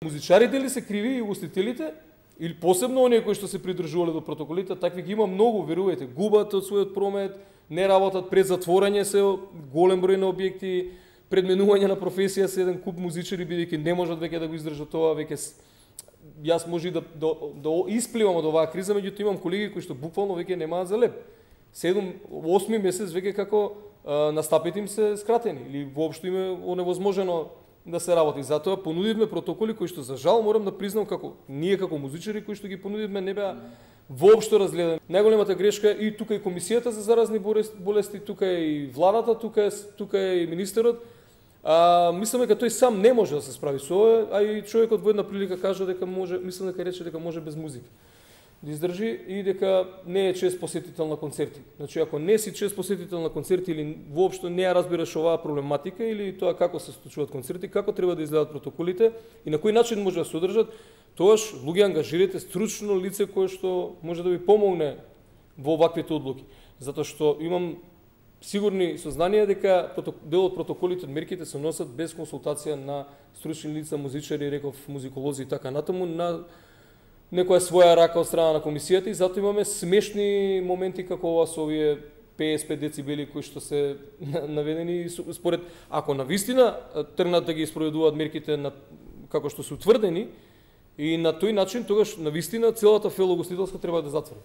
Музичарите ли се криви и ugostителите? Или посебно оние кои што се придржувале до протоколите, такви ги има многу, верувајте, губат од својот промет, не работат, пред затворање се голем број на објекти, пред менување на професија се еден куп музичари, бидејќи не можат веќе да го издржат тоа, веќе јас може да испливам од оваа криза, меѓутоа имам колеги кои што буквално веќе немаат за леп. 7-8 месец веќе како настапите им се скратени или воопшто им е оневозможено да се работи. Затоа понудивме протоколи кои што за жал морам да признам како ние како музичари кои што ги понудивме не беа воопшто разгледани. Најголемата грешка и тука и комисијата за заразни болести, тука и владата, тука и министерот. Мислам дека тој сам не може да се справи со ова, а и човекот во една прилика кажа дека може, мислам дека рече дека може без музика да издржи и дека не е чест посетител на концерти. Значи, ако не си чест посетител на концерти или воопшто не ја разбираш оваа проблематика или тоа како се случуваат концерти, како треба да изгледат протоколите и на кој начин може да се одржат, тоаш луѓе ангажирате стручно лице кое што може да ви помогне во ваквите одлуки. Затоа што имам сигурни сознанија дека дел од протоколите од мерките се носат без консултација на стручни лица, музичари, реков музиколози и така натаму, на некоја своја рака од страна на комисијата и затоа имаме смешни моменти како ова со овие 55 децибели кои што се наведени според, ако навистина тргнат да ги спроведуваат мерките како што се утврдени и на тој начин тогаш навистина целата фелоugostителска треба да затвори.